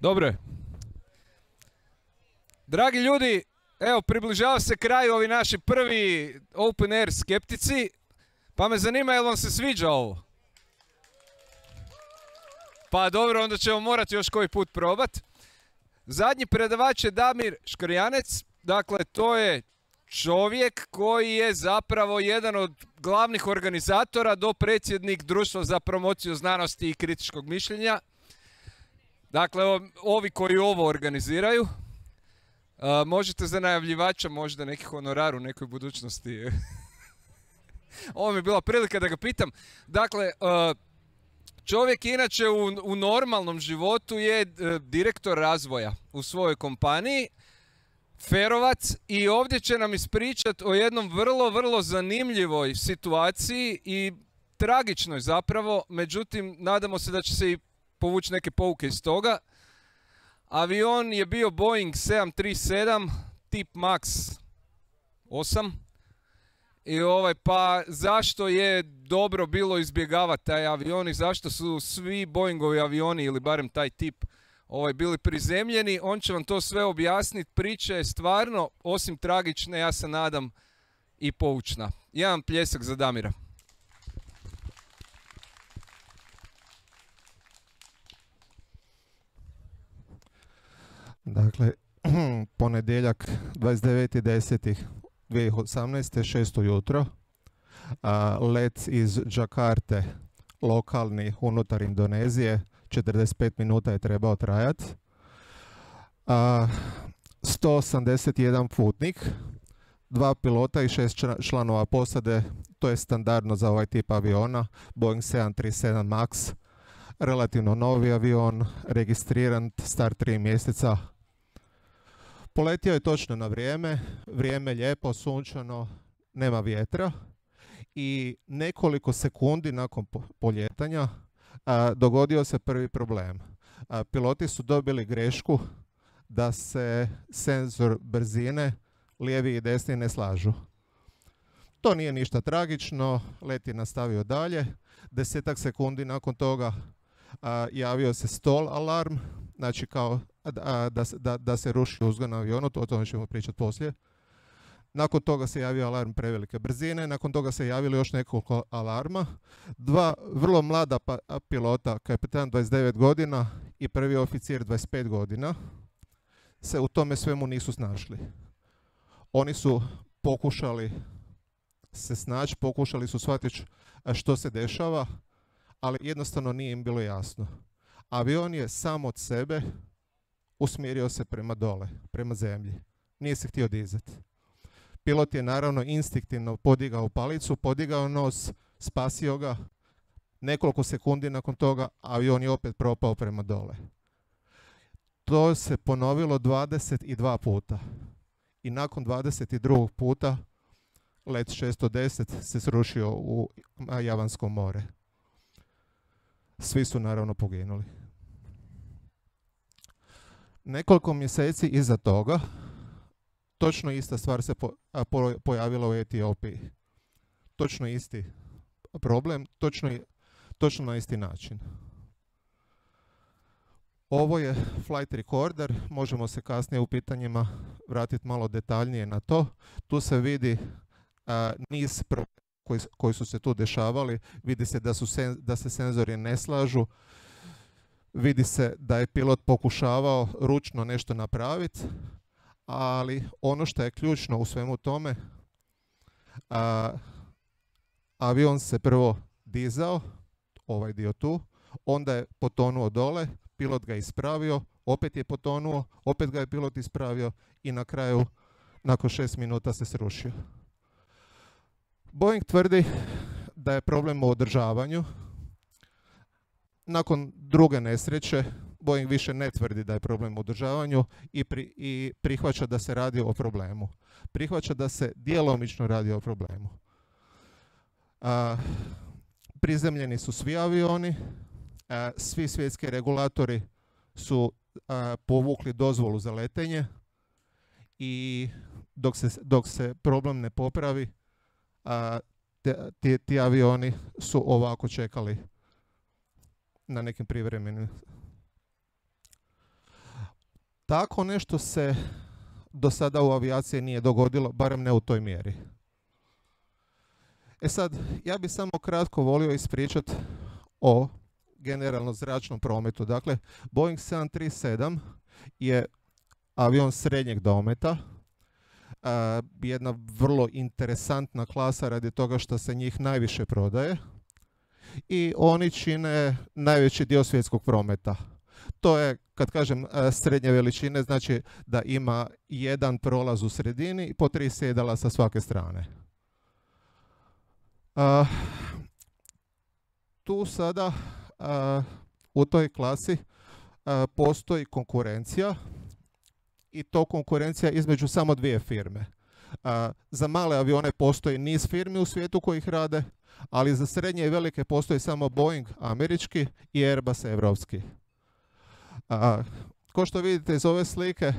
Dobro je. Dragi ljudi, evo približava se kraju ovi naši prvi open air skeptici, pa me zanima jel vam se sviđa ovo? Pa dobro, onda ćemo morati još koji put probat. Zadnji predavač je Damir Škrjanec, dakle to je čovjek koji je zapravo jedan od glavnih organizatora do predsjednik Društva za promociju znanosti i kritičkog mišljenja. Dakle, ovi koji ovo organiziraju. Možete za najavljivača možda neki honorar u nekoj budućnosti. Ovo mi je bila prilika da ga pitam. Dakle, čovjek inače u normalnom životu je direktor razvoja u svojoj kompaniji, Ferovac, i ovdje će nam ispričati o jednom vrlo zanimljivoj situaciji i tragičnoj zapravo, međutim nadamo se da će se i povući neke pouke iz toga. Avion je bio Boeing 737 tip Max 8 i pa zašto je dobro bilo izbjegavati taj avion i zašto su svi Boeingovi avioni ili barem taj tip bili prizemljeni. On će vam to sve objasniti. Priča je stvarno, osim tragične, ja se nadam, i poučna. Jedan pljesak za Damira. Dakle, ponedjeljak 29.10.2018. 6 jutro. Let iz Džakarte, lokalni unutar Indonezije, 45 minuta je trebao trajati. 181 putnik, 2 pilota i 6 članova posade, to je standardno za ovaj tip aviona, Boeing 737 Max, relativno novi avion, registriran, star 3 mjeseca. Poletio je točno na vrijeme, vrijeme lijepo, sunčano, nema vjetra i nekoliko sekundi nakon poljetanja dogodio se prvi problem. Piloti su dobili grešku da se senzor brzine lijevi i desni ne slažu. To nije ništa tragično, let je nastavio dalje. 10 sekundi nakon toga javio se stall alarm, znači kao da se ruši uzgon na avionu, o tome ćemo pričati poslije. Nakon toga se javio alarm prevelike brzine, nakon toga se javili još nekoliko alarma. 2 vrlo mlada pilota, kapitan 29 godina i prvi oficir 25 godina, se u tome svemu nisu snašli. Oni su pokušali se snaći, pokušali su shvatiti što se dešava, ali jednostavno nije im bilo jasno. Avion je sam od sebe usmjerio se prema dole, prema zemlji. Nije se htio dizati. Pilot je naravno instinktivno podigao palicu, podigao nos, spasio ga. Nekoliko sekundi nakon toga avion je opet propao prema dole. To se ponovilo 22 puta. I nakon 22. puta let 610 se srušio u Javansko more. Svi su naravno poginuli. Nekoliko mjeseci iza toga točno ista stvar se pojavila u Etiopiji. Točno isti problem, točno na isti način. Ovo je flight recorder, možemo se kasnije u pitanjima vratiti malo detaljnije na to. Tu se vidi niz problema koji su se tu dešavali. Vidi se da se senzori ne slažu. Vidi se da je pilot pokušavao ručno nešto napraviti, ali ono što je ključno u svemu tome, avion se prvo dizao, ovaj dio tu, onda je potonuo dole, pilot ga ispravio, opet je potonuo, opet ga je pilot ispravio i na kraju, nakon 6 minuta se srušio. Boeing tvrdi da je problem u održavanju. Nakon druge nesreće, Boeing više ne tvrdi da je problem u održavanju i prihvaća da se radi o problemu. Prihvaća da se djelomično radi o problemu. Prizemljeni su svi avioni, svi svjetski regulatori su povukli dozvolu za letenje i dok se problem ne popravi, ti avioni su ovako čekali na nekim privremenim. Tako nešto se do sada u avijaciji nije dogodilo, barem ne u toj mjeri. E sad, ja bih samo kratko volio ispričati o generalno zračnom prometu. Dakle, Boeing 737 je avion srednjeg dometa, jedna vrlo interesantna klasa radi toga što se njih najviše prodaje i oni čine najveći dio svjetskog prometa. To je, kad kažem srednje veličine, znači da ima jedan prolaz u sredini i po 3 sjedala sa svake strane. Tu sada u toj klasi postoji konkurencija i to konkurencija između samo 2 firme. Za male avione postoji niz firmi u svijetu koji ih rade, ali za srednje i velike postoji samo Boeing američki i Airbus evropski. Kao što vidite iz ove slike,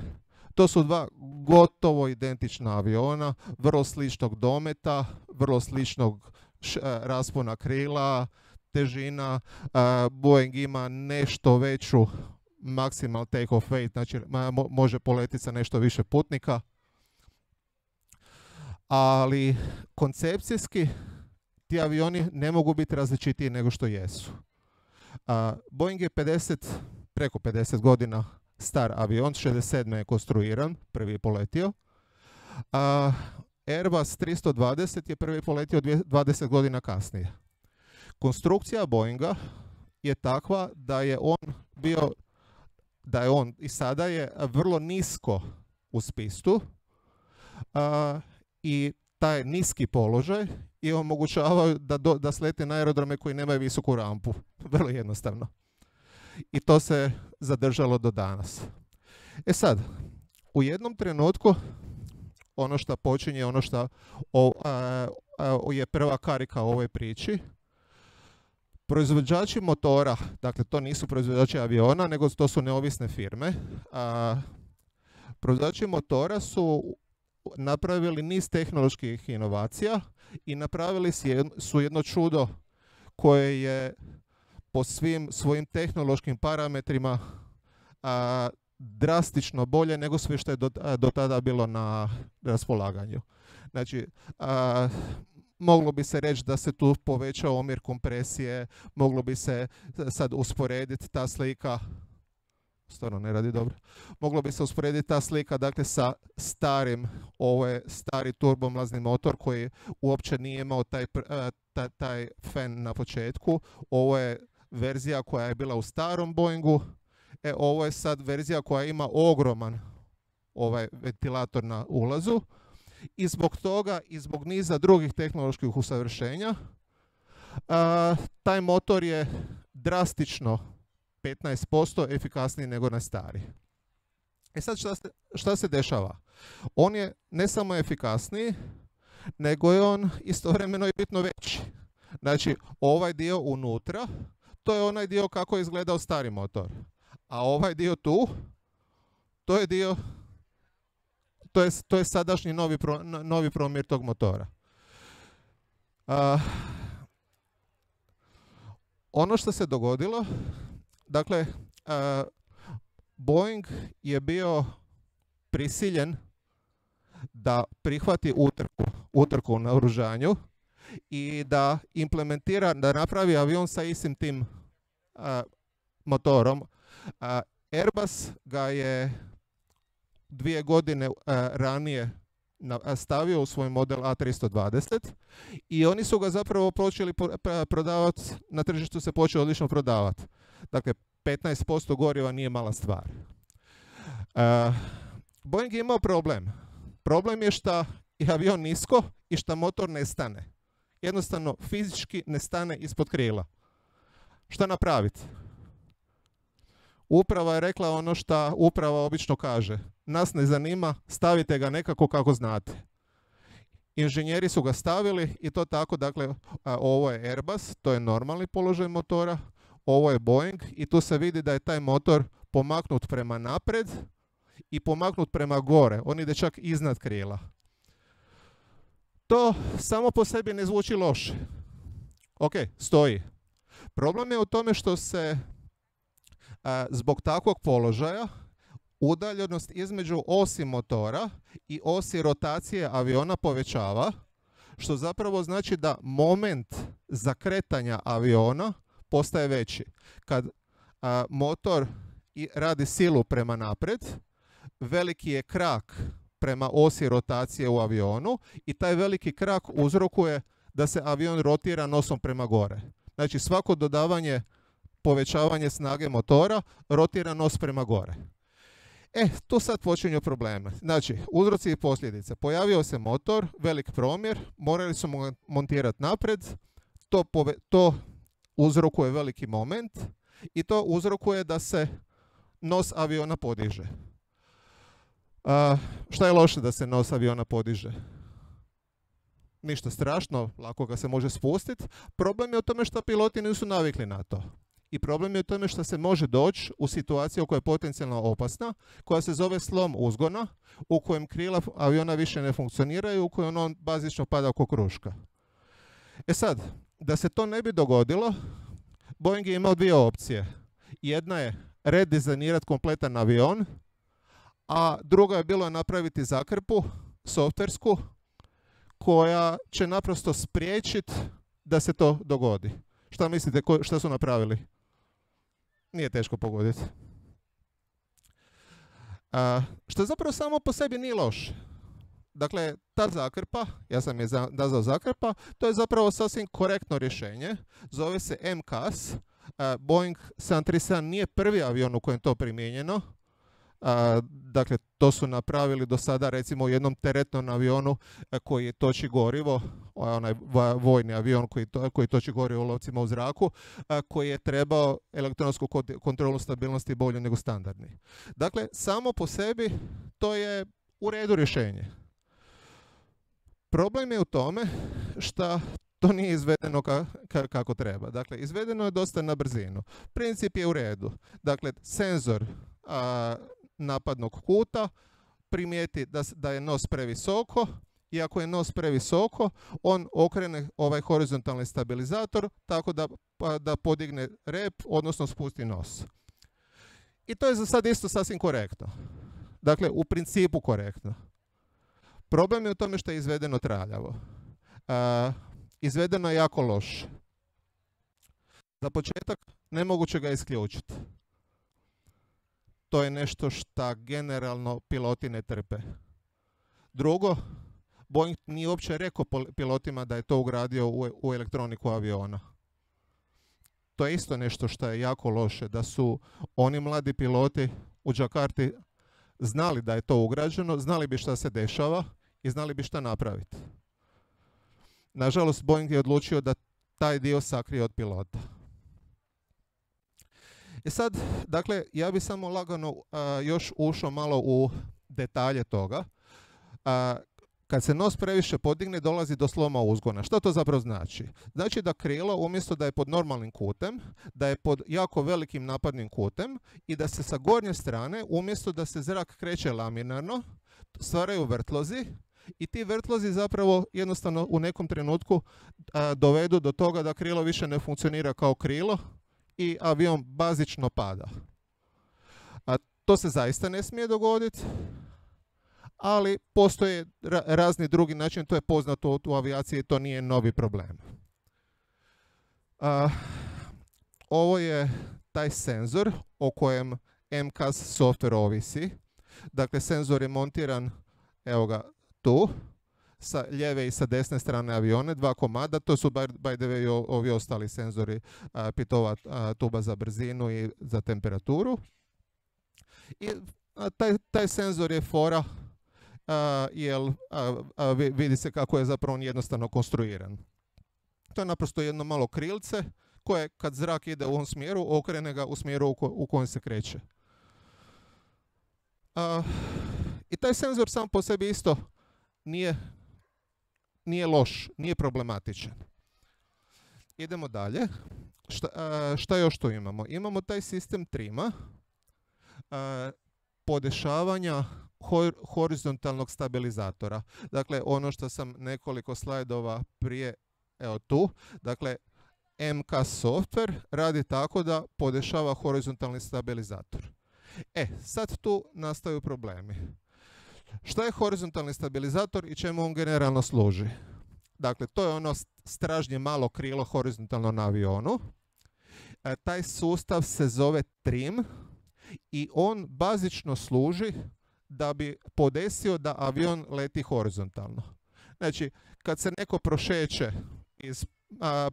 to su 2 gotovo identična aviona, vrlo sličnog dometa, vrlo sličnog raspona krila, težina. Boeing ima nešto veću maximal take-off weight, znači može poletiti sa nešto više putnika. Ali koncepcijski ti avioni ne mogu biti različitiji nego što jesu. Boeing je preko 50 godina star avion, 67. je konstruiran, prvi je poletio. Airbus 320 je prvi poletio 20 godina kasnije. Konstrukcija Boeinga je takva da je on i sada je vrlo nisko uz pistu i taj niski položaj i omogućava da slete na aerodrome koji nemaju visoku rampu. Vrlo jednostavno. I to se zadržalo do danas. E sad, u jednom trenutku ono što počinje, ono što je prva karika u ovoj priči, proizvođači motora, dakle to nisu proizvođači aviona, nego to su neovisne firme. Proizvođači motora su napravili niz tehnoloških inovacija i napravili su jedno čudo koje je po svim svojim tehnološkim parametrima drastično bolje nego sve što je do tada bilo na raspolaganju. Znači, moglo bi se reći da se tu povećao omjer kompresije, moglo bi se sad usporediti ta slika, stvarno ne radi dobro, moglo bi se usporediti ta slika dakle sa starim, ovo je stari turbomlazni motor koji uopće nije imao taj fan na početku, ovo je verzija koja je bila u starom Boeingu, ovo je sad verzija koja ima ogroman ventilator na ulazu. I zbog toga i zbog niza drugih tehnoloških usavršenja taj motor je drastično 15% efikasniji nego na stari. E sad šta se dešava? On je ne samo efikasniji, nego je on istovremeno i bitno veći. Znači ovaj dio unutra, to je onaj dio kako je izgledao stari motor. A ovaj dio tu, to je dio, to je sadašnji novi promjer tog motora. Ono što se dogodilo, dakle, Boeing je bio prisiljen da prihvati utrku u naoružanju i da implementira, da napravi avion sa istim tim motorom. Airbus ga je 2 godine ranije stavio u svoj model A320 i oni su ga zapravo počeli prodavati, na tržištu se počeo odlično prodavati. Dakle, 15% goriva nije mala stvar. Boeing je imao problem. Problem je što je avion nisko i što motor ne stane. Jednostavno, fizički ne stane ispod krila. Šta napraviti? Uprava je rekla ono što uprava obično kaže. Nas ne zanima, stavite ga nekako kako znate. Inženjeri su ga stavili i to tako, dakle, ovo je Airbus, to je normalni položaj motora, ovo je Boeing i tu se vidi da je taj motor pomaknut prema napred i pomaknut prema gore. On ide čak iznad krila. To samo po sebi ne zvuči loše. Ok, stoji. Problem je u tome što se zbog takvog položaja udaljenost između osi motora i osi rotacije aviona povećava, što zapravo znači da moment zakretanja aviona postaje veći. Kad motor radi silu prema naprijed, veliki je krak prema osi rotacije u avionu i taj veliki krak uzrokuje da se avion rotira nosom prema gore. Znači svako dodavanje, povećavanje snage motora rotira nos prema gore. Tu sad počinju probleme. Znači, uzroci i posljedice. Pojavio se motor, velik promjer, morali su montirati naprijed, to uzrokuje veliki moment i to uzrokuje da se nos aviona podiže. Šta je loše da se nos aviona podiže? Ništa strašno, lako ga se može spustiti. Problem je u tome što piloti nisu navikli na to. I problem je u tome što se može doći u situaciju koja je potencijalno opasna, koja se zove slom uzgona, u kojem krila aviona više ne funkcioniraju, u kojem on bazično pada oko kruška. Sad, da se to ne bi dogodilo, Boeing je imao dvije opcije. Jedna je redizajnirati kompletan avion, a druga je bilo napraviti zakrpu, softversku, koja će naprosto spriječiti da se to dogodi. Šta mislite, šta su napravili? Nije teško pogoditi. Što zapravo samo po sebi nije loše. Dakle, ta zakrpa, ja sam je nazvao zakrpa, to je zapravo sasvim korektno rješenje. Zove se MCAS. Boeing 737 nije prvi avion u kojem to primijenjeno. Dakle, to su napravili do sada recimo u jednom teretnom avionu koji toči gorivo, onaj vojni avion koji toči gorivo u lovcima u zraku, koji je trebao elektronsku kontrolu stabilnosti bolju nego standardni. Dakle, samo po sebi to je u redu rješenje. Problem je u tome što to nije izvedeno kako treba. Dakle, izvedeno je dosta na brzinu. Princip je u redu. Dakle, senzor napadnog kuta primijeti da je nos previsoko i ako je nos previsoko, on okrene ovaj horizontalni stabilizator tako da podigne rep, odnosno spusti nos. I to je za sad isto sasvim korektno. Dakle, u principu korektno. Problem je u tome što je izvedeno traljavo. Izvedeno je jako loše. Za početak, nemoguće ga isključiti. To je nešto što generalno piloti ne trpe. Drugo, Boeing nije uopće rekao pilotima da je to ugradio u elektroniku aviona. To je isto nešto što je jako loše, da su oni mladi piloti u Jakarti znali da je to ugrađeno, znali bi šta se dešava i znali bi šta napraviti. Nažalost, Boeing je odlučio da taj dio sakrije od pilota. Sad, dakle, ja bi samo lagano još ušao malo u detalje toga. Kad se nos previše podigne, dolazi do sloma uzgona. Što to zapravo znači? Znači da krilo, umjesto da je pod normalnim kutem, da je pod jako velikim napadnim kutem i da se sa gornje strane, umjesto da se zrak kreće laminarno, stvaraju vrtlozi i ti vrtlozi zapravo jednostavno u nekom trenutku dovedu do toga da krilo više ne funkcionira kao krilo i avion bazično pada. To se zaista ne smije dogoditi, ali postoje razni drugi način, to je poznato u avijaciji, to nije novi problem. Ovo je taj senzor o kojem MCAS software ovisi. Dakle, senzor je montiran, evo ga tu, sa lijeve i sa desne strane avione, 2 komada, to su by the way ovi ostali senzori, pitova tuba za brzinu i za temperaturu. I taj senzor je fora, jer vidi se kako je zapravo on jednostavno konstruiran. To je naprosto jedno malo krilce koje kad zrak ide u ovom smjeru, okrene ga u smjeru u kojem se kreće. I taj senzor sam po sebi isto nije loš, nije problematičan. Idemo dalje. Šta još tu imamo? Imamo taj sistem trima, podešavanja horizontalnog stabilizatora. Dakle, ono što sam nekoliko slajdova prije, evo tu, dakle, MCAS software radi tako da podešava horizontalni stabilizator. Sad tu nastaju problemi. Šta je horizontalni stabilizator i čemu on generalno služi? Dakle, to je ono stražnje malo krilo horizontalno na avionu. Taj sustav se zove trim i on bazično služi da bi podesio da avion leti horizontalno. Znači, kad se neko prošeće iz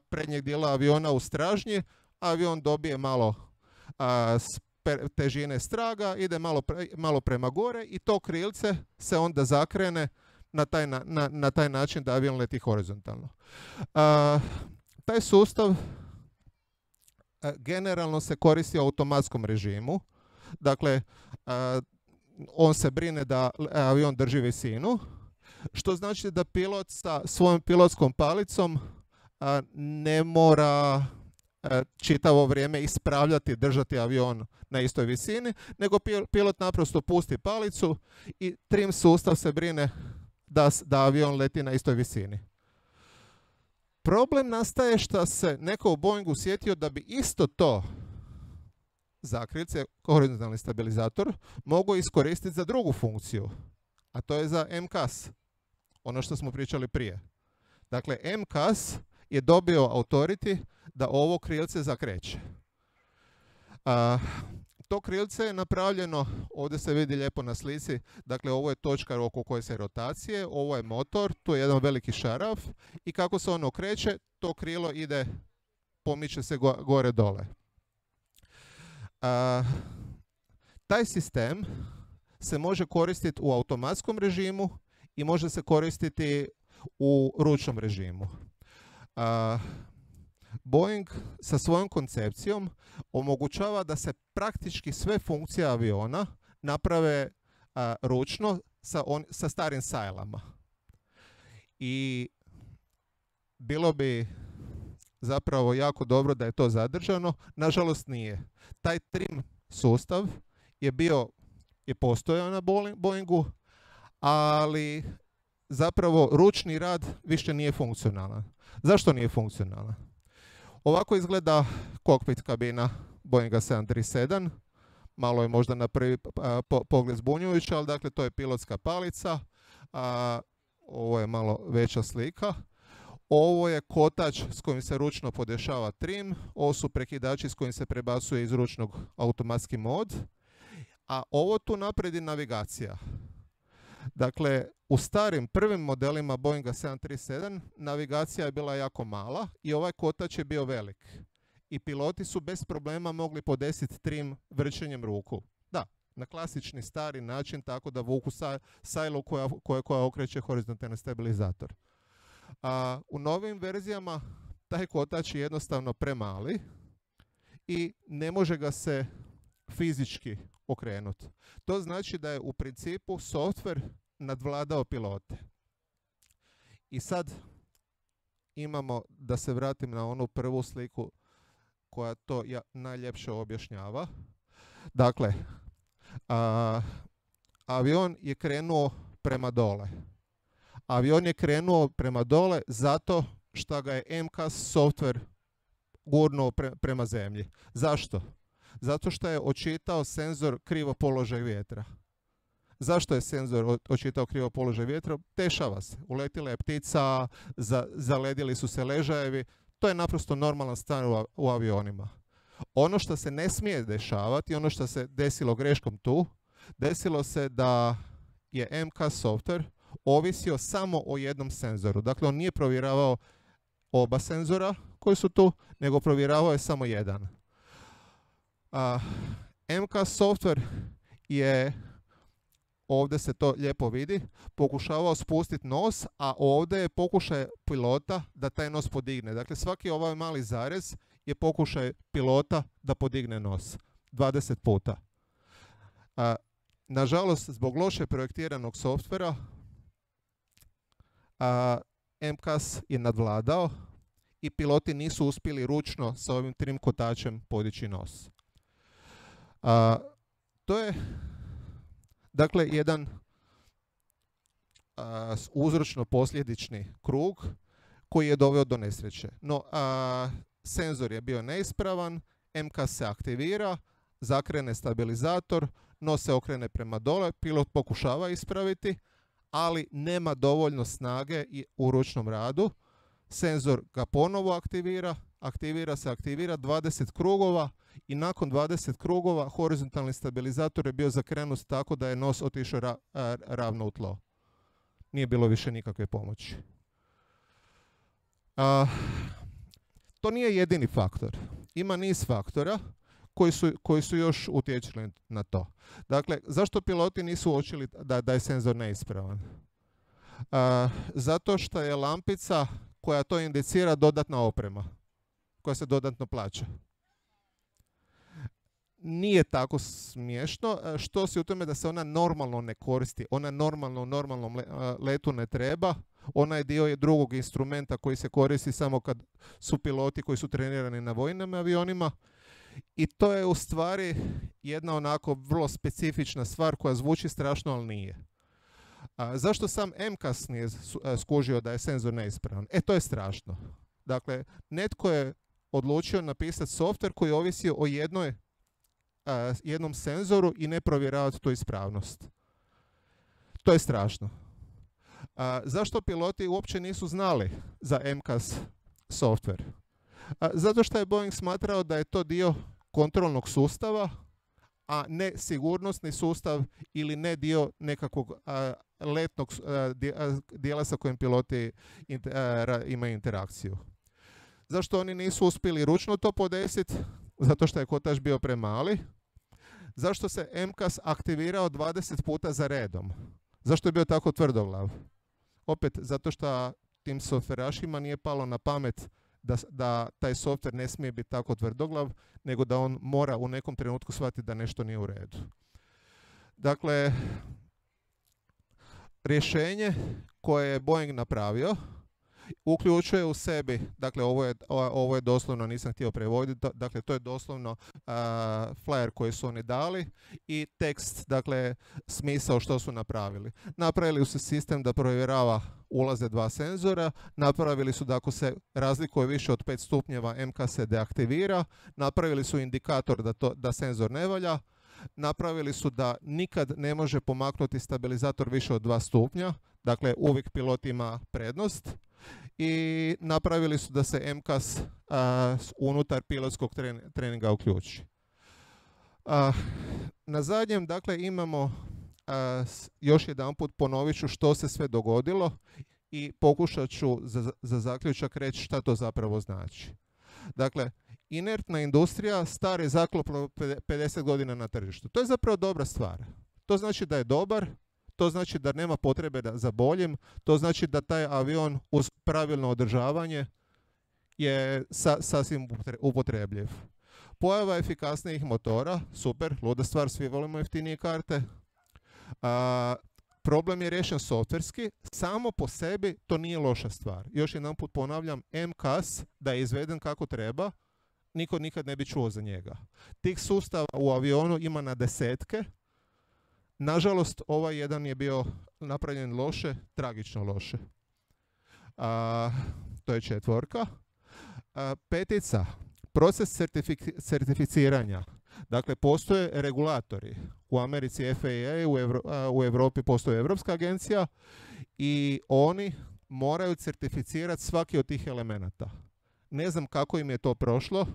prednjeg dijela aviona u stražnji, avion dobije malo težine straga, ide malo prema gore i to krilce se onda zakrene na taj način da avion leti horizontalno. Taj sustav generalno se koristi u automatskom režimu. Dakle, on se brine da avion drži visinu, što znači da pilot sa svojom pilotskom palicom ne mora čitavo vrijeme ispravljati, držati avion na istoj visini, nego pilot naprosto pusti palicu i trim sustav se brine da avion leti na istoj visini. Problem nastaje što se neko u Boeingu sjetio da bi isto to zakrilce, horizontalni stabilizator, mogu iskoristiti za drugu funkciju, a to je za MCAS, ono što smo pričali prije. Dakle, MCAS je dobio authority da ovo krilce zakreće. To krilce je napravljeno, ovdje se vidi lijepo na slici, dakle ovo je točka oko koje se rotacije, ovo je motor, tu je jedan veliki šaraf i kako se ono okreće, to krilo ide, pomiče se gore dole. Taj sistem se može koristiti u automatskom režimu i može se koristiti u ručnom režimu. Boeing sa svojom koncepcijom omogućava da se praktički sve funkcije aviona naprave ručno sa starim sajlama. I bilo bi zapravo jako dobro da je to zadržano, nažalost nije. Taj trim sustav je postojao na Boeingu, ali zapravo ručni rad više nije funkcionalan. Zašto nije funkcionalan? Ovako izgleda kokpit kabina Boeinga 737. Malo je možda na prvi pogled zbunjujuće, ali dakle to je pilotska palica. Ovo je malo veća slika. Ovo je kotač s kojim se ručno podešava trim. Ovo su prekidači s kojim se prebacuje iz ručnog automatski mod. A ovo tu naprijed je navigacija. Dakle, u starim prvim modelima Boeinga 737 navigacija je bila jako mala i ovaj kotač je bio velik. I piloti su bez problema mogli podesiti trim vrćenjem ruku. Da, na klasični stari način, tako da vuku sajlu koja okreće horizontalni stabilizator. U novim verzijama taj kotač je jednostavno premali i ne može ga se fizički okrenuti. To znači da je u principu softver nadvladao pilote. I sad imamo, da se vratim na onu prvu sliku koja to najljepše objašnjava. Dakle, avion je krenuo prema dole. Avion je krenuo prema dole zato što ga je MCAS softver gurnuo prema zemlji. Zašto? Zato što je očitao senzor krivo položaj vjetra. Zašto je senzor očitao krivo položaj vjetra? Dešava se. Uletila je ptica, zaledili su se ležajevi. To je naprosto normalna stvar u avionima. Ono što se ne smije dešavati, ono što se desilo greškom tu, desilo se da je MCAS software ovisio samo o jednom senzoru. Dakle, on nije provjeravao oba senzora koji su tu, nego provjeravao je samo jedan. MCAS software je, ovdje se to lijepo vidi, pokušavao spustiti nos, a ovdje je pokušaj pilota da taj nos podigne. Dakle, svaki ovaj mali zarez je pokušaj pilota da podigne nos 20 puta. Nažalost, zbog loše projektiranog softvera, MCAS je nadvladao i piloti nisu uspjeli ručno sa ovim trim kotačem podići nos. To je dakle jedan uzročno-posljedični krug koji je doveo do nesreće. No, senzor je bio neispravan, MCAS se aktivira, zakrene stabilizator, nos se okrene prema dole, pilot pokušava ispraviti, ali nema dovoljno snage u ručnom radu. Senzor ga ponovo aktivira 20 krugova i nakon 20 krugova horizontalni stabilizator je bio zakrenut tako da je nos otišao ravno u tlo. Nije bilo više nikakve pomoći. To nije jedini faktor. Ima niz faktora koji su još utječili na to. Dakle, zašto piloti nisu uočili da je senzor neispravan? Zato što je lampica koja to indicira dodatna oprema, koja se dodatno plaća. Nije tako smiješno, što si u tome da se ona normalno ne koristi. Ona normalno u normalnom letu ne treba. Ona je dio drugog instrumenta koji se koristi samo kad su piloti koji su trenirani na vojnim avionima. I to je u stvari jedna onako vrlo specifična stvar koja zvuči strašno, ali nije. Zašto sam MCAS nije skužio da je senzor neispravan? To je strašno. Dakle, netko je odlučio napisati softver koji ovisi o jednom senzoru i ne provjeravati tu ispravnost. To je strašno. Zašto piloti uopće nisu znali za MCAS softver? Zato što je Boeing smatrao da je to dio kontrolnog sustava, a ne sigurnosni sustav ili ne dio nekakvog letnog dijela sa kojim piloti imaju interakciju. Zašto oni nisu uspjeli ručno to podesiti? Zato što je kotač bio premali. Zašto se MCAS aktivirao 20 puta za redom? Zašto je bio tako tvrdoglav? Opet, zato što tim softverašima nije palo na pamet da taj softver ne smije biti tako tvrdoglav, nego da on mora u nekom trenutku shvatiti da nešto nije u redu. Dakle, rješenje koje je Boeing napravio uključuje u sebi, dakle ovo je doslovno, nisam htio prevoditi, dakle to je doslovno flyer koji su oni dali i tekst, dakle smisao što su napravili. Napravili su sistem da provjerava ulaze dva senzora, napravili su da ako se razlikuje više od 5 stupnjeva MCAS se deaktivira, napravili su indikator da senzor ne valja, napravili su da nikad ne može pomaknuti stabilizator više od 2 stupnja, dakle uvijek pilot ima prednost. I napravili su da se MCAS unutar pilotskog treninga uključi. Na zadnjem, dakle, imamo još jedanput ponovit ću što se sve dogodilo i pokušat ću za zaključak reći šta to zapravo znači. Dakle, inertna industrija, stari zaklop 50 godina na tržištu. To je zapravo dobra stvar. To znači da je dobar, to znači da nema potrebe za boljim, to znači da taj avion uz pravilno održavanje je sasvim upotrebljiv. Pojava efikasnijih motora, super, luda stvar, svi volimo jeftinije karte. Problem je riješen softverski, samo po sebi to nije loša stvar. Još jedan put ponavljam, MCAS da je izveden kako treba, niko nikad ne bi čuo za njega. Tih sustava u avionu ima na desetke. Nažalost, ovaj jedan je bio napravljen loše, tragično loše. To je 4. 5. Proces certificiranja. Dakle, postoje regulatori. U Americi FAA, u Europi postoji Europska agencija i oni moraju certificirati svaki od tih elemenata. Ne znam kako im je to prošlo,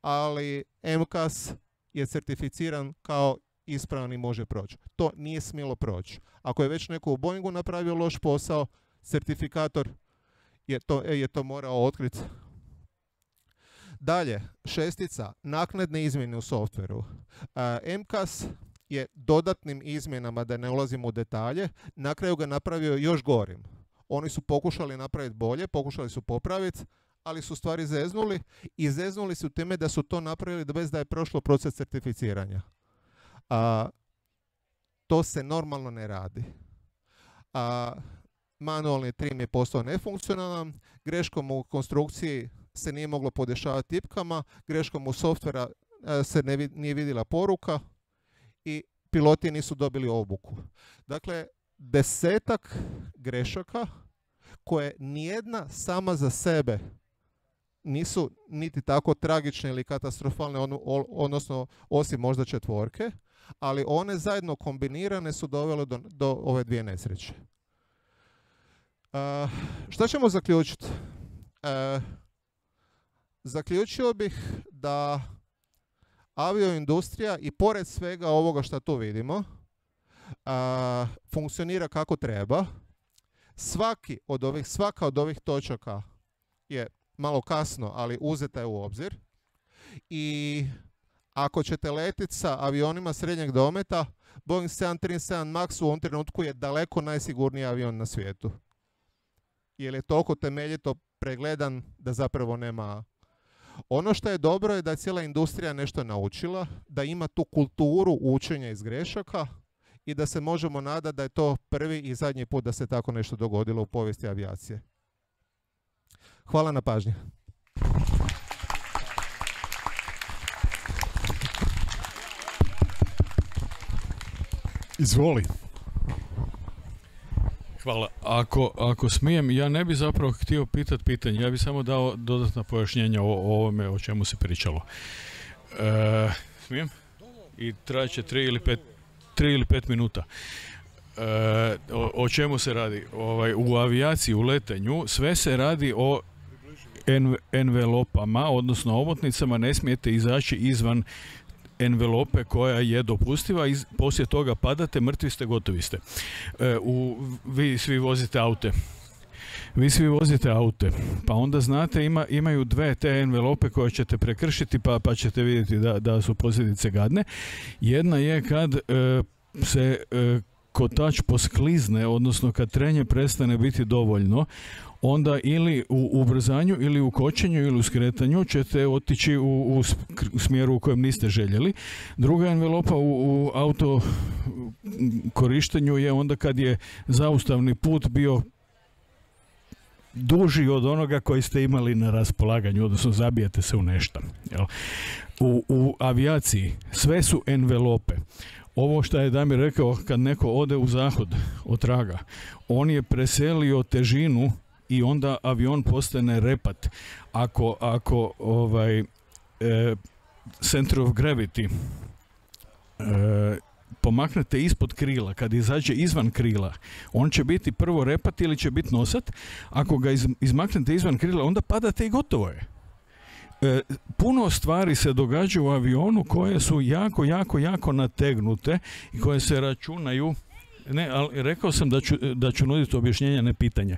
ali MCAS je certificiran kao ispravan i može proći. To nije smjelo proći. Ako je već neko u Boeingu napravio loš posao, certifikator je to morao otkriti. Dalje, 6. naknadne izmjene u softveru. MCAS je dodatnim izmjenama, da ne ulazimo u detalje, na kraju ga napravio još gorim. Oni su pokušali napraviti bolje, pokušali su popraviti, ali su stvari zeznuli i zeznuli su time da su to napravili bez da je prošlo proces certificiranja. To se normalno ne radi. Manualni trim je postao nefunkcionalan, greškom u konstrukciji se nije moglo podešavati tipkama, greškom u softvera se nije vidjela poruka i piloti nisu dobili obuku. Dakle, 10 grešaka koje nijedna sama za sebe nisu niti tako tragične ili katastrofalne, odnosno osim možda četvorke, ali one zajedno kombinirane su dovele do ove dvije nesreće. Šta ćemo zaključiti? Zaključio bih da avioindustrija i pored svega ovoga što tu vidimo funkcionira kako treba. Svaka od ovih točaka je malo kasno, ali uzeta je u obzir. I ako ćete letiti sa avionima srednjeg dometa, Boeing 737 MAX u ovom trenutku je daleko najsigurniji avion na svijetu. Jer je toliko temeljito pregledan da zapravo nema. Ono što je dobro je da je cijela industrija nešto naučila, da ima tu kulturu učenja iz grešaka i da se možemo nadati da je to prvi i zadnji put da se tako nešto dogodilo u povijesti avijacije. Hvala na pažnji. Izvoli. Hvala. Ako smijem, ja ne bi zapravo htio pitati pitanje, ja bi samo dao dodatna pojašnjenja o ovome o čemu se pričalo. Smijem? I traće 3 ili 5 minuta. O čemu se radi? U avijaciji, u letanju, sve se radi o envelopama, odnosno omotnicama, ne smijete izaći izvan envelope koja je dopustiva i poslije toga padate, mrtvi ste, gotovi ste. Vi svi vozite aute. Pa onda znate, imaju dve te envelope koje ćete prekršiti pa ćete vidjeti da su posljedice gadne. Jedna je kad se kotač posklizne, odnosno kad trenje prestane biti dovoljno, onda ili u ubrzanju ili u kočenju ili u skretanju ćete otići u smjeru u kojem niste željeli. Druga envelopa u auto korištenju je onda kad je zaustavni put bio duži od onoga koji ste imali na raspolaganju, odnosno zabijete se u nešto. U avijaciji sve su envelope. Ovo što je Damir rekao, kad neko ode u zahod od traga, on je preselio težinu i onda avion postane repat. Ako center of gravity pomaknete ispod krila, kad izađe izvan krila, on će biti prvo repat ili će biti nosat. Ako ga izmaknete izvan krila, onda padate i gotovo je. Puno stvari se događa u avionu koje su jako nategnute i koje se računaju, ne, ali rekao sam da ću nuditi objašnjenja, ne pitanje,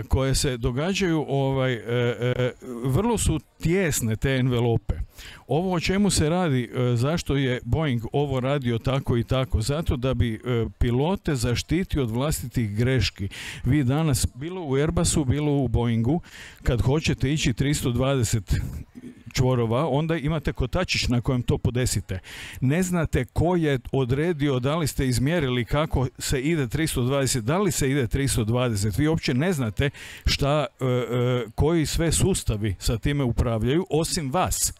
koje se događaju, vrlo su tijesne te envelope. Ovo o čemu se radi, zašto je Boeing ovo radio tako i tako? Zato da bi pilote zaštitio od vlastitih greški. Vi danas, bilo u Airbusu, bilo u Boeingu, kad hoćete ići 320 čvorova, onda imate kotačić na kojem to podesite. Ne znate ko je odredio, da li ste izmjerili kako se ide 320, da li se ide 320. Vi uopće ne znate koji sve sustavi sa time upravljaju, osim vas.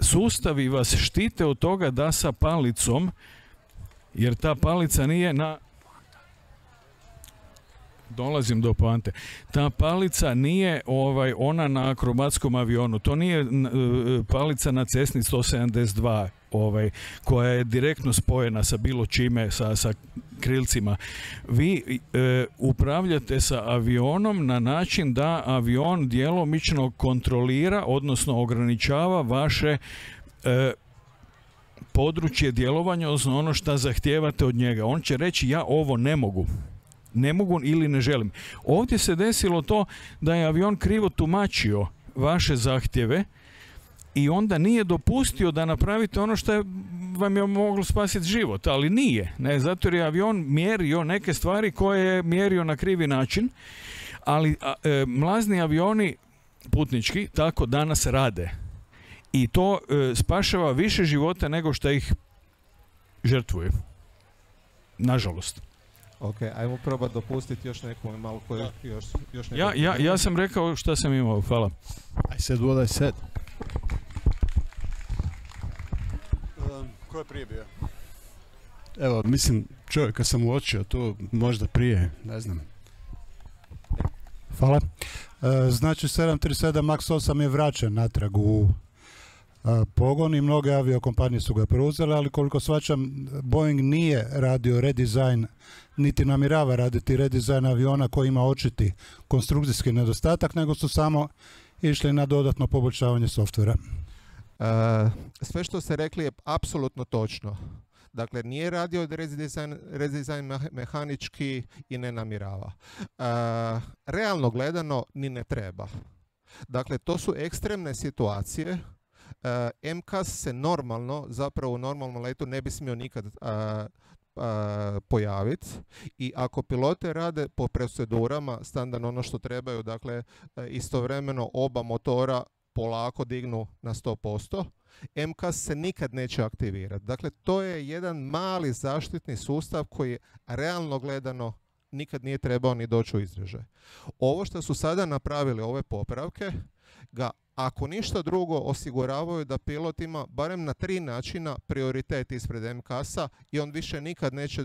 Sustavi vas štite od toga da sa palicom, jer ta palica nije na... Dolazim do poante. Ta palica nije ona na akrobatskom avionu. To nije palica na Cessni 172 koja je direktno spojena sa bilo čime, sa krilcima. Vi upravljate sa avionom na način da avion djelomično kontrolira, odnosno ograničava vaše područje djelovanja, odnosno ono što zahtijevate od njega. On će reći, ja ovo ne mogu ili ne želim. Ovdje se desilo to da je avion krivo tumačio vaše zahtjeve i onda nije dopustio da napravite ono što vam je moglo spasiti život, ali nije. Ne, zato jer je avion mjerio neke stvari koje je mjerio na krivi način, ali mlazni avioni putnički tako danas rade. I to spašava više života nego što ih žrtvuje. Nažalost. Ok, ajmo probati dopustiti još nekom malo koji još ja sam rekao šta sam imao, hvala. I said what I said. Ko je prije bio? Evo, mislim, čovjeka sam uočio tu, možda prije, ne znam. Hvala. Znači 737 MAX 8 je vraćen natrag u pogon i mnoge aviokompanije su ga preuzele, ali koliko shvaćam, Boeing nije radio redizajn, niti namjerava raditi redizajn aviona koji ima očiti konstrukcijski nedostatak, nego su samo išli na dodatno poboljšavanje softvera. Sve što ste rekli je apsolutno točno. Dakle, nije radio redizajn mehanički i ne namjerava. Realno gledano, ni ne treba. Dakle, to su ekstremne situacije. MCAS se normalno, zapravo u normalnom letu ne bi smio nikad pojaviti i ako pilote rade po procedurama, standardno ono što trebaju, dakle, istovremeno oba motora polako dignu na 100%, MCAS se nikad neće aktivirati. Dakle, to je jedan mali zaštitni sustav koji realno gledano nikad nije trebao ni doći u izražaj. Ovo što su sada napravili, ove popravke, ga ako ništa drugo osiguravaju da pilot ima barem na 3 načina prioritet ispred MCAS-a i on više nikad neće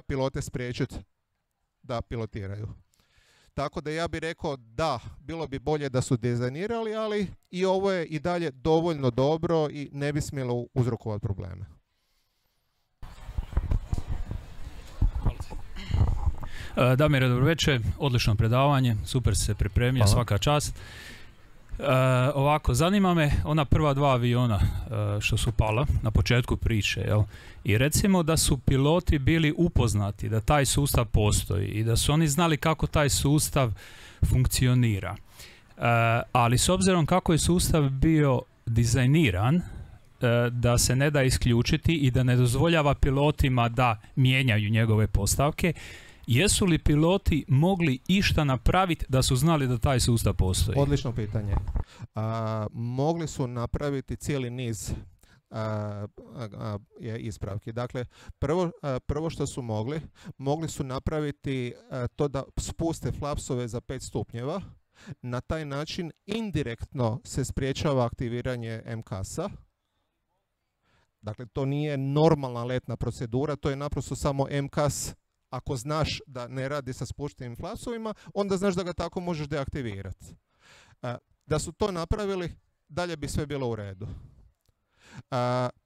pilote spriječiti da pilotiraju. Tako da ja bih rekao da, bilo bi bolje da su dizajnirali, ali i ovo je i dalje dovoljno dobro i ne bi smjelo uzrokovati probleme. Damire, dobro večer, odlično predavanje, super se pripremio, svaka čast. Ovako, zanima me ona prva 2 aviona što su pala na početku priče, jel? I recimo da su piloti bili upoznati da taj sustav postoji i da su oni znali kako taj sustav funkcionira. Ali s obzirom kako je sustav bio dizajniran, da se ne da isključiti i da ne dozvoljava pilotima da mijenjaju njegove postavke, jesu li piloti mogli išta napraviti da su znali da taj sustav postoji? Odlično pitanje. Mogli su napraviti cijeli niz ispravki. Dakle, prvo što su mogli su napraviti to da spuste flapsove za 5 stupnjeva. Na taj način indirektno se spriječava aktiviranje MCAS-a. Dakle, to nije normalna letna procedura, to je naprosto samo MCAS. Ako znaš da ne radi sa spuštenim flapsovima, onda znaš da ga tako možeš deaktivirati. Da su to napravili, dalje bi sve bilo u redu.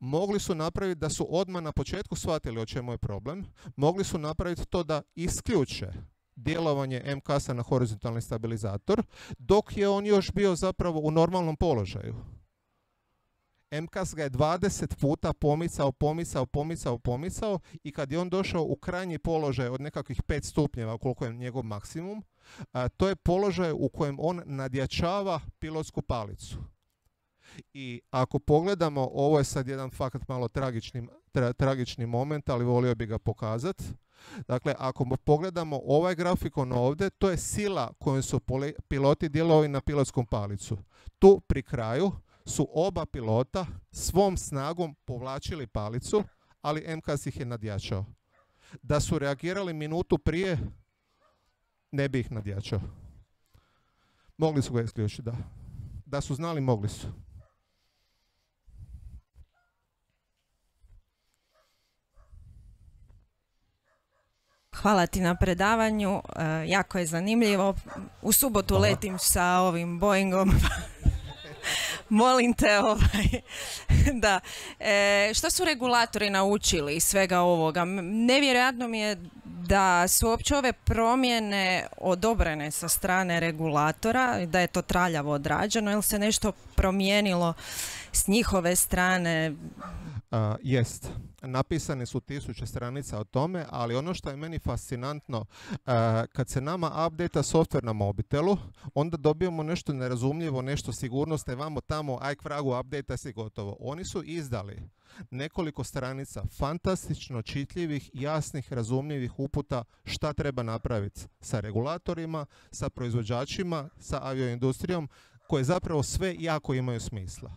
Mogli su napraviti da su odmah na početku shvatili o čemu je problem. Mogli su napraviti to da isključe djelovanje MCAS-a na horizontalni stabilizator, dok je on još bio zapravo u normalnom položaju. MCAS ga je 20 puta pomicao i kad je on došao u krajnji položaj od nekakvih 5 stupnjeva, koliko je njegov maksimum, to je položaj u kojem on nadjačava pilotsku palicu. I ako pogledamo, ovo je sad jedan fakat malo tragični moment, ali volio bi ga pokazati. Dakle, ako pogledamo ovaj grafikon ovdje, to je sila kojom su piloti djelovali na pilotskom palicu. Tu pri kraju su oba pilota svom snagom povlačili palicu, ali MCAS ih je nadjačao. Da su reagirali minutu prije, ne bi ih nadjačao. Mogli su ga isključiti, da. Da su znali, mogli su. Hvala ti na predavanju, jako je zanimljivo. U subotu letim sa ovim Boeingom. Molim te, da. Što su regulatori naučili iz svega ovoga? Nevjerojatno mi je da su uopće ove promjene odobrene sa strane regulatora, da je to traljavo odrađeno, ili se nešto promijenilo s njihove strane? Jest. Napisane su 1000 stranica o tome, ali ono što je meni fascinantno, kad se nama update software na mobitelu, onda dobijemo nešto nerazumljivo, nešto sigurnosne, vamo tamo, aj k vragu, update si gotovo. Oni su izdali nekoliko stranica fantastično čitljivih, jasnih, razumljivih uputa šta treba napraviti sa regulatorima, sa proizvođačima, sa avioindustrijom, koje zapravo sve jako imaju smisla.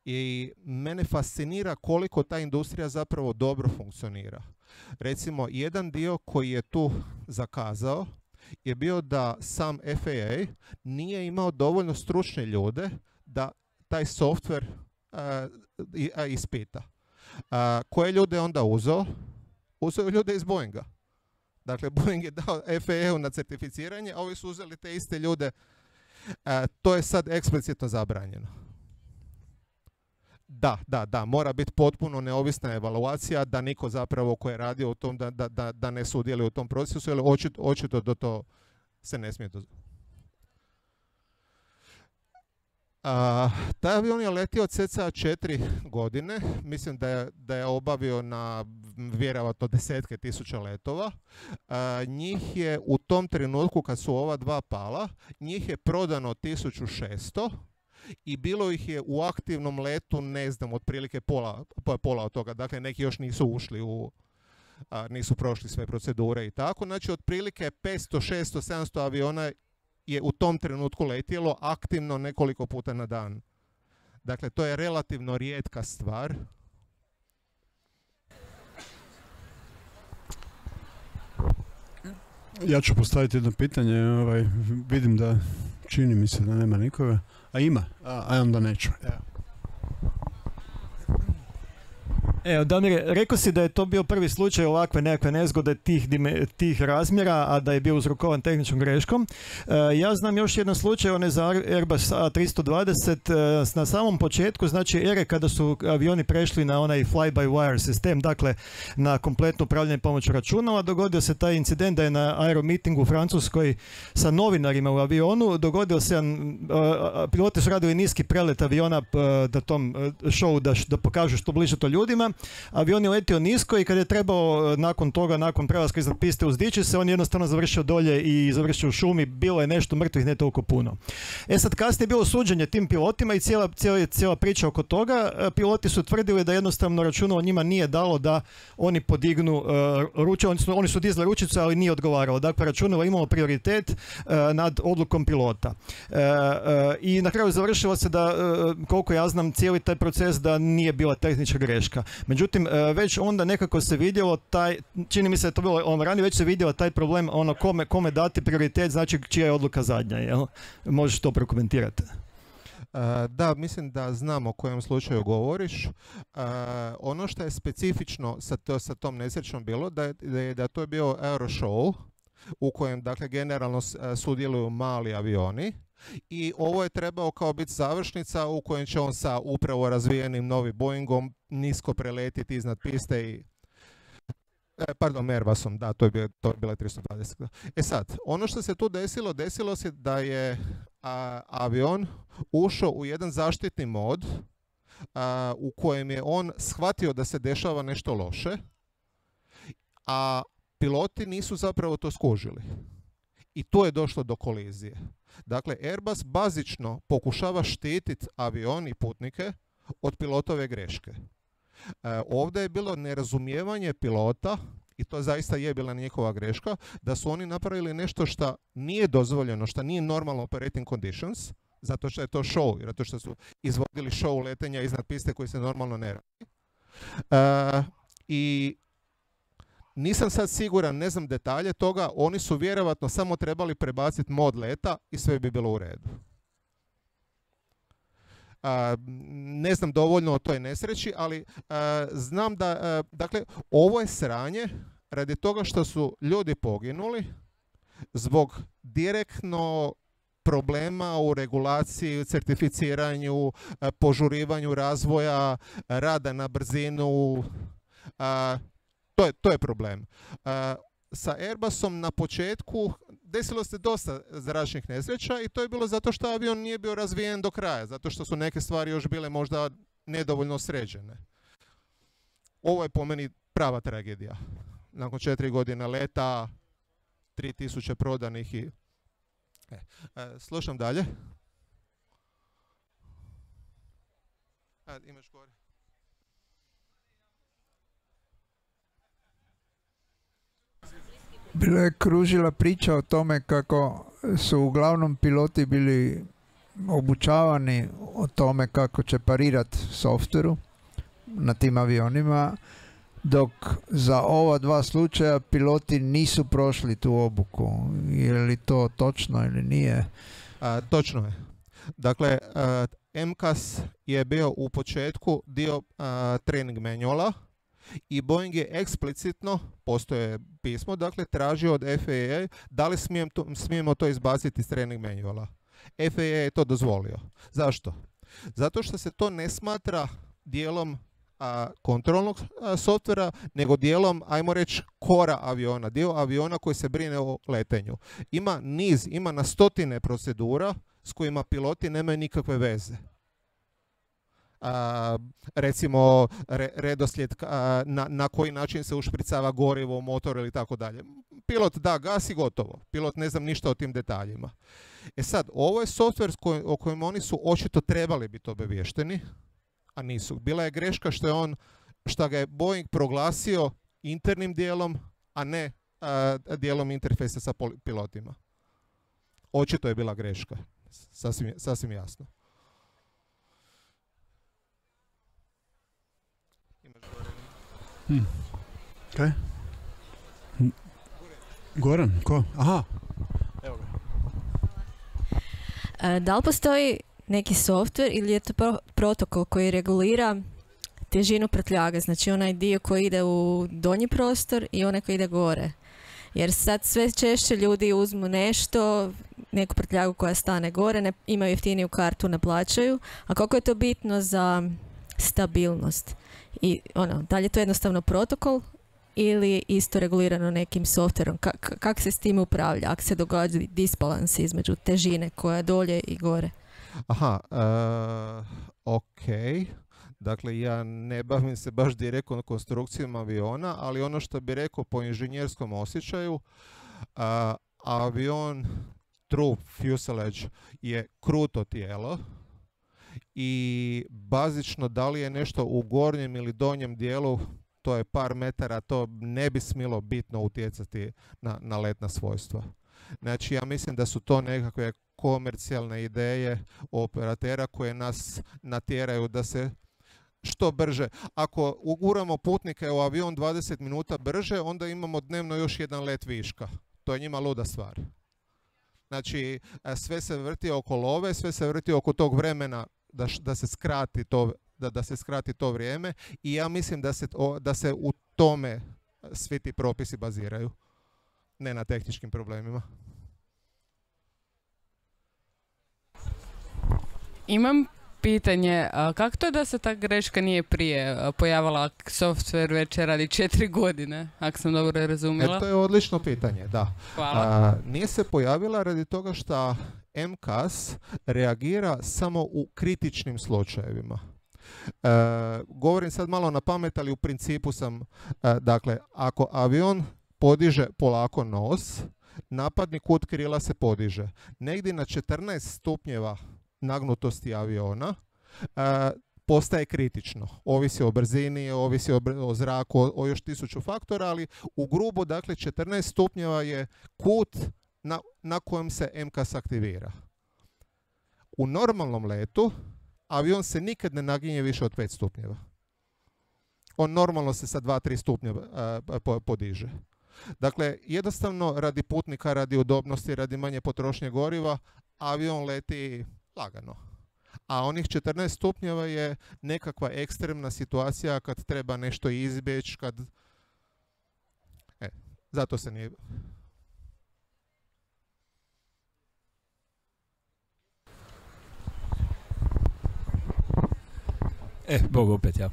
I mene fascinira koliko ta industrija zapravo dobro funkcionira. Recimo, jedan dio koji je tu zakazao je bio da sam FAA nije imao dovoljno stručne ljude da taj softver ispita. Koje ljude je onda uzeo? Uzeo ljude iz Boeinga. Dakle, Boeing je dao FAA-u na certificiranje, a ovi su uzeli te iste ljude. To je sad eksplicitno zabranjeno. Da, mora biti potpuno neovisna evaluacija, da niko zapravo ko je radio u tom, da ne sudjeluje u tom procesu, jer očito do to se ne smije dozvoliti. Taj avion je letio cca 4 godine, mislim da je obavio na vjerojatno desetke tisuća letova. Njih je u tom trenutku kad su ova dva pala, njih je prodano 1600 i bilo ih je u aktivnom letu, ne znam, otprilike pola od toga, dakle neki još nisu ušli nisu prošli sve procedure i tako, znači otprilike 500, 600, 700 aviona je u tom trenutku letjelo aktivno nekoliko puta na dan. Dakle, to je relativno rijetka stvar. Ja ću postaviti jedno pitanje. Vidim da čini mi se da nema nikoga. A ima, a onda neću. Evo, Damir, rekao si da je to bio prvi slučaj ovakve nekakve nezgode tih razmjera, a da je bio uzrokovan tehničkom greškom. Ja znam još jedan slučaj, on je za Airbus A320 na samom početku, znači ere kada su avioni prešli na onaj fly-by-wire sistem, dakle na kompletno upravljanje pomoću računala, dogodio se taj incident da je na aeromitingu u Francuskoj sa novinarima u avionu, dogodio se piloti su radili niski prelet aviona da tom show da pokažu što bliže to ljudima. Avion je letio nisko i kad je trebao nakon prelaska iznad piste uzdići se, on je jednostavno završio dolje i završio u šumi, bilo je nešto mrtvih, ne toliko puno. Sad kasnije je bilo suđenje tim pilotima i cijela priča oko toga. Piloti su tvrdili da jednostavno računalo njima nije dalo da oni podignu ruče, oni su dizali ručicu, ali nije odgovaralo. Dakle, računalo je imalo prioritet nad odlukom pilota. I na kraju završilo se da, koliko ja znam, cijeli taj proces da nije bila tehnička greška. Međutim, već onda nekako se vidjelo čini mi se da je to bilo ranije, već se vidjelo taj problem kome dati prioritet, znači čija je odluka zadnja, jel? Možeš to prokomentirati? Da, mislim da znam o kojem slučaju govoriš. Ono što je specifično sa tom nesrećom bilo, da to je bio Aeroshow, u kojem, dakle, generalno sudjeluju mali avioni. I ovo je trebao kao biti završnica u kojem će on sa upravo razvijenim novim Boeingom nisko preletiti iznad piste i Airbusom, da, to je bila 320. Sad, ono što se tu desilo se da je avion ušao u jedan zaštitni mod u kojem je on shvatio da se dešava nešto loše, a piloti nisu zapravo to skužili. I tu je došlo do kolizije. Dakle, Airbus bazično pokušava štititi avion i putnike od pilotove greške. Ovdje je bilo nerazumijevanje pilota, i to zaista je bila njihova greška, da su oni napravili nešto što nije dozvoljeno, što nije normal operating conditions, zato što je to show, zato što su izvodili show letenja iznad piste koji se normalno ne radi. I nisam sad siguran, ne znam detalje toga, oni su vjerovatno samo trebali prebaciti mod leta i sve bi bilo u redu. Ne znam dovoljno o toj nesreći, ali znam da, dakle, ovo je sranje radi toga što su ljudi poginuli zbog direktno problema u regulaciji, certificiranju, požurivanju razvoja, rada na brzinu. To je problem. Sa Airbusom na početku desilo se dosta zračnih nesreća i to je bilo zato što avion nije bio razvijen do kraja, zato što su neke stvari još bile možda nedovoljno sređene. Ovo je po meni prava tragedija. Nakon 4 godine leta, 3000 prodanih i... slušam dalje. Imaš gore. Bila je kružila priča o tome kako su uglavnom piloti bili obučavani o tome kako će parirati softveru na tim avionima, dok za ova dva slučaja piloti nisu prošli tu obuku. Je li to točno ili nije? Točno je. Dakle, MCAS je bio u početku dio training manuala I Boeing je eksplicitno, postoje pismo, dakle tražio od FAA da li smijemo to izbaciti iz trening manuala. FAA je to dozvolio. Zašto? Zato što se to ne smatra dijelom kontrolnog softvera, nego dijelom, ajmo reći, kora aviona, dio aviona koji se brine o letenju. Ima na stotine procedura s kojima piloti nemaju nikakve veze. Recimo redoslijed na koji način se ušpricava gorivo u motor ili tako dalje. Pilot da gas i gotovo. Pilot ne znam ništa o tim detaljima. Sad, ovo je softver o kojem oni su očito trebali biti obavješteni, a nisu. Bila je greška što ga je Boeing proglasio internim dijelom, a ne dijelom interfejsa sa pilotima. Očito je bila greška. Sasvim jasno. Okay. Goran, ko? Aha. Evo ga. Da li postoji neki softver ili je to protokol koji regulira težinu prtljage, znači onaj dio koji ide u donji prostor i onaj koji ide gore? Jer sad sve češće ljudi uzmu nešto, neku prtljagu koja stane gore, imaju jeftiniju kartu, ne plaćaju. A koliko je to bitno za stabilnost? I da li je to jednostavno protokol ili isto regulirano nekim softverom? Kako se s tim upravlja ako se događa disbalans između težine koja je dolje i gore? Aha, ok. Dakle, ja ne bavim se baš direktno konstrukcijom aviona, ali ono što bi rekao po inženjerskom osjećaju, avion, true fuselage je kruto tijelo i bazično da li je nešto u gornjem ili donjem dijelu, to je par metara, to ne bi smjelo bitno utjecati na letna svojstva. Znači, ja mislim da su to nekakve komercijalne ideje operatera koje nas natjeraju da se što brže. Ako uguramo putnike u avion 20 minuta brže, onda imamo dnevno još jedan let viška. To je njima luda stvar. Znači, sve se vrti oko love, sve se vrti oko tog vremena da se skrati to, da se skrati to vrijeme i ja mislim da se u tome svi ti propisi baziraju, ne na tehničkim problemima. Imam pitanje, kako to je da se ta greška nije prije pojavila, software već radi 4 godine, ako sam dobro razumjela? To je odlično pitanje, da. Hvala. Nije se pojavila radi toga što MCAS reagira samo u kritičnim slučajevima. Govorim sad malo na pamet, ali u principu sam, dakle, ako avion podiže polako nos, napadni kut krila se podiže. Negdje na 14 stupnjeva nagnutosti aviona postaje kritično. Ovisi o brzini, ovisi o zraku, o još 1000 faktora, ali u grubo, dakle, 14 stupnjeva je kut na kojem se MCAS aktivira. U normalnom letu avion se nikad ne naginje više od 5 stupnjeva. On normalno se sa 2-3 stupnjeva podiže. Dakle, jednostavno radi putnika, radi udobnosti, radi manje potrošnje goriva, avion leti lagano. A onih 14 stupnjeva je nekakva ekstremna situacija kad treba nešto izbjeći, kad... zato se nije... Bog opet ja.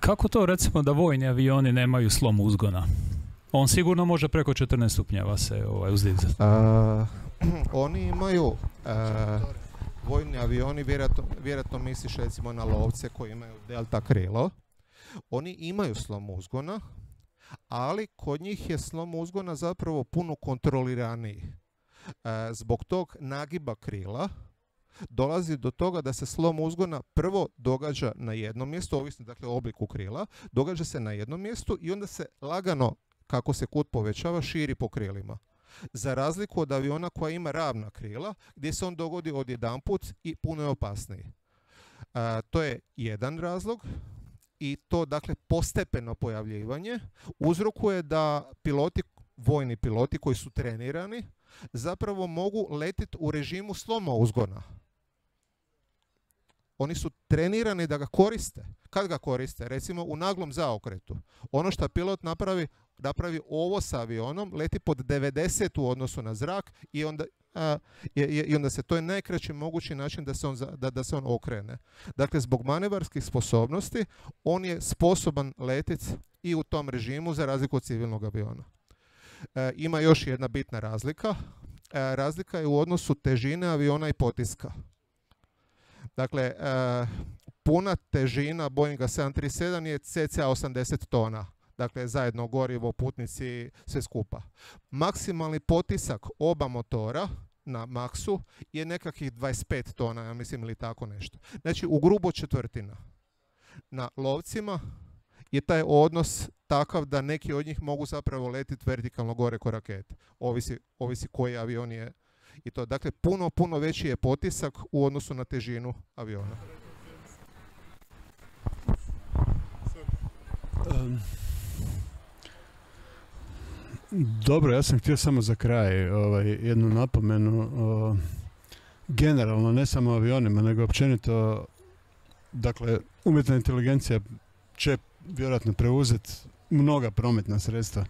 Kako to recimo da vojni avioni nemaju slom uzgona? On sigurno može preko 14 stupnjeva se uzdizati. Oni imaju, vojni avioni, vjerojatno misliš recimo na lovce koji imaju delta krilo, oni imaju slom uzgona, ali kod njih je slom uzgona zapravo puno kontroliraniji. Zbog tog nagiba krila dolazi do toga da se slom uzgona prvo događa na jednom mjestu, ovisno dakle o obliku krila, događa se na jednom mjestu i onda se lagano, kako se kut povećava, širi po krilima. Za razliku od aviona koja ima ravna krila, gdje se on dogodi odjedanput i puno je opasniji. To je jedan razlog i to, dakle, postepeno pojavljivanje uzrokuje da piloti, vojni piloti koji su trenirani, zapravo mogu letiti u režimu sloma uzgona. Oni su trenirani da ga koriste. Kad ga koriste? Recimo u naglom zaokretu. Ono što pilot napravi ovo sa avionom, leti pod 90 u odnosu na zrak i onda se, to je najkraći mogući način da se on okrene. Dakle, zbog manevarskih sposobnosti, on je sposoban letiti i u tom režimu za razliku od civilnog aviona. Ima još jedna bitna razlika. Razlika je u odnosu težine aviona i potiska. Dakle, puna težina Boeinga 737 je cca 80 tona. Dakle, zajedno gorivo, putnici, sve skupa. Maksimalni potisak oba motora na maksu je nekakvih 25 tona, ja mislim, ili tako nešto. Znači, u grubo četvrtina. Na lovcima je taj odnos takav da neki od njih mogu zapravo letiti vertikalno gore ko rakete. Ovisi koji avion je i to. Dakle, puno veći je potisak u odnosu na težinu aviona. Dobro, ja sam htio samo za kraj jednu napomenu. Generalno, ne samo avionima, nego općenito, dakle, umjetna inteligencija će vjerojatno preuzeti mnoga prometna sredstva.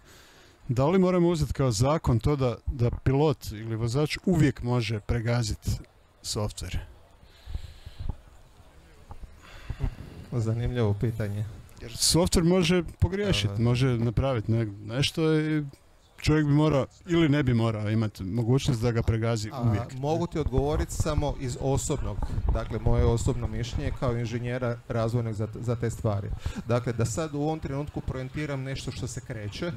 Da li moramo uzeti kao zakon to da pilot ili vozač uvijek može pregaziti softver? Zanimljivo pitanje. Jer softver može pogriješiti, može napraviti nešto i čovjek bi morao ili ne bi morao imati mogućnost da ga pregazi uvijek. Mogu ti odgovoriti samo iz osobnog, dakle moje osobno mišljenje kao inženjera razvojnog za te stvari. Dakle, da sad u ovom trenutku projentiram nešto što se kreće,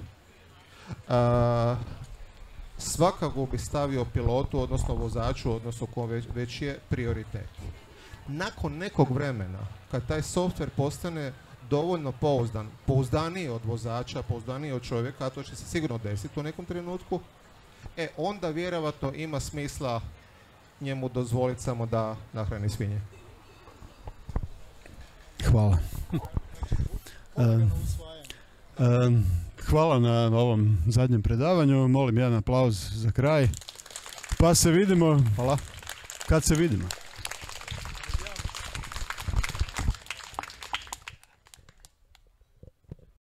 svakako bi stavio pilotu, odnosno vozaču, odnosno ko već je prioritet. Nakon nekog vremena, kad taj softver postane dovoljno pouzdaniji od vozača, pouzdaniji od čovjeka, a to će se sigurno desiti u nekom trenutku, onda vjerovatno ima smisla njemu dozvoliti samo da nahrani svinje. Hvala. Hvala na ovom zadnjem predavanju. Molim jedan aplauz za kraj. Pa se vidimo. Hvala. Kad se vidimo?